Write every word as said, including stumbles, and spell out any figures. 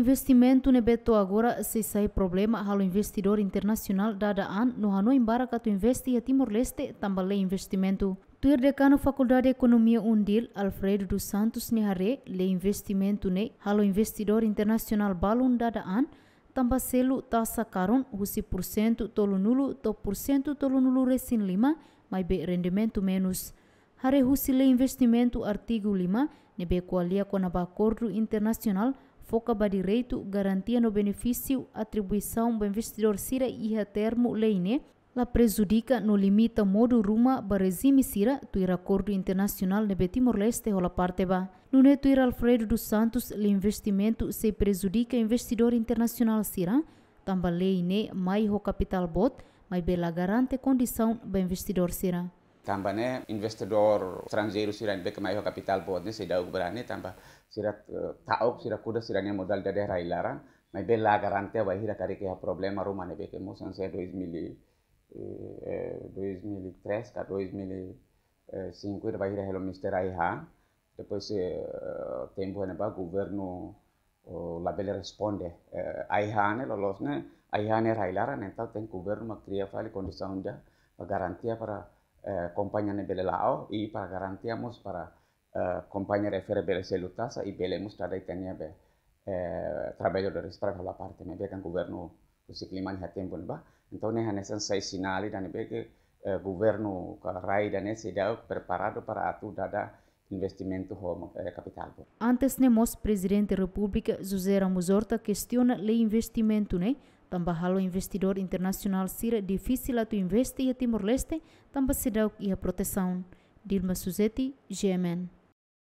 Investimentu ne'ebé to'o agora sei sai problema halo investidór internasionál dada an no hanoin barak atu investe iha Timor-Leste tanba lei investimentu. Tuir Dekanu Fakuldade Ekonomia UNDIL, Alfredo dos Santos nia haree, lei investimentu ne'e halo investidór internasionál balun dada an, tanba selu taxa karun husi pursentu tolunulu to'o pursentu tolunulu resin lima, maibé rendimentu menus. Haree husi lei investimentu artigu lima, ne'ebé ko'alia kona-ba akordu internasionál, foka ba direitu, garantia no benefísiu atribuisaun ba investidór sira iha termu lei ne'e, la prejudika no limita modu ruma ba rejime sira tuir akordu internasionál ne'ebé Timor-Leste hola parte ba. Nune'e tuir Alfredo dos Santos, lei investimentu sei prejudika investidór internasionál sira, tanba lei ne'e mai ho kapitál boot, maibé la garante kondisaun ba investidór sira. Tanba ne'e investidór estranjeiru sira ne'ebé ke mai ho kapitál boot ne'e seidauk brani tanba sira, eh, ta'uk, sira kuda sira-nia modalidade rai-laran, maibé la garante bainhira karik iha problema ruma ne'ebé ke mós hanesan dois mil, eh, dois mil e três ka dois mil e cinco ida bainhira hela Mister Aiha. Depois, eh, tempu ne'ebá governu, oh, labele responde. Eh, Aiha ne'e loloos ne'e, Aiha ne'e rai-laran, entaun tenke governu mak kria fali kondisaun ida ba garantia para, eh, kompañia ne'e bele la'o, i para garantia mós para, eh, kompañia refere bele selu taxa, i bele mós dada ita-nia be, eh, traballadór sira para hola parte ne'ebé kan governu husik liman iha tempu ne'ebá. Entaun ne'e hanesan sai sinál ida ne'ebé ke, eh, governu ka rai ida ne'e seidauk preparadu para atu dada investimentu ho, eh, kapitál boot. Antes ne'e mós Prezidente Repúblika José Ramos Horta kestiona lei investimentu ne'e, tanba halo investidór internasionál sira difisil atu investe iha Timor-Leste, tanba seidauk iha protesaun. Dilma Suzeti, G M N.